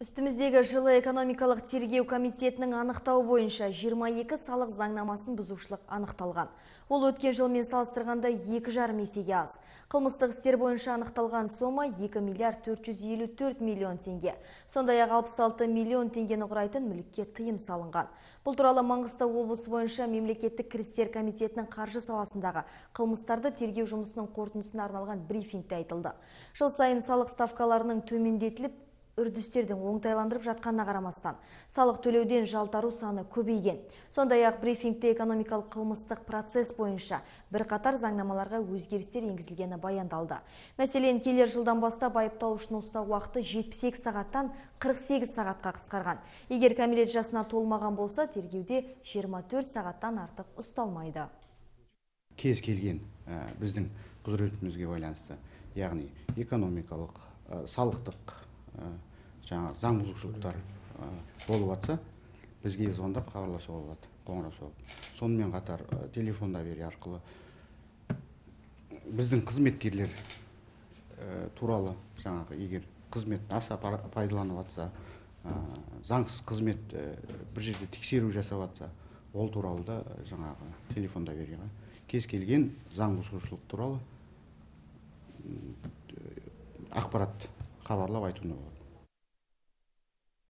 Үстіміздегі жылы экономикалық тергеу комитетінің анықтау бойынша 22 салық заңнамасын бұзушылық анықталған. Ол өткен жылмен салыстырғанда 2,5 есеге аз. Қылмыстық істер бойынша анықталған сома 2 миллиард 454 миллион теңге. Сондай-ақ 66 миллион теңгені құрайтын мүлікке тыйым салынған. Бұл туралы Маңғыстау облысы бойынша мемлекеттік кірістер комитетінің қаржы саласындағы қылмыстарды тергеу жұмысының қорытындысына арналған брифингте айтылды. Жыл сайын салық ставкаларының төмендетіліп, үрдістердің оңтайландырып жатқанына қарамастан, салық төлеуден жалтару саны көбейген. Сондай-ақ брифингте экономикалық қылмыстық процесс бойынша бірқатар заңнамаларға өзгерістер енгізілгені баяндалды. Мәселен, келер жылдан бастап айыпталушыны ұстау уақыты 78 сағаттан 48 сағатқа қысқарған. Егер кәмелет жасына толмаған болса, тергеуде 24 сағаттан артық ұсталмайды. Кез келген біздің құзыретімізге байланысты, яғни экономикалық, салықтық заң бұзушылықтар болып жатса, бізге звондап хабарласуға болады, қоңырау соғып. Сонымен қатар телефонда бері арқылы біздің қызметкерлер туралы, егер қызмет аса пайдаланып жатса, заңсыз қызмет бір жерде тексеру жасап жатса, ол туралы да телефонда береға кез келген заң бұзушылық туралы ақпарат хабарлап айтуына болады.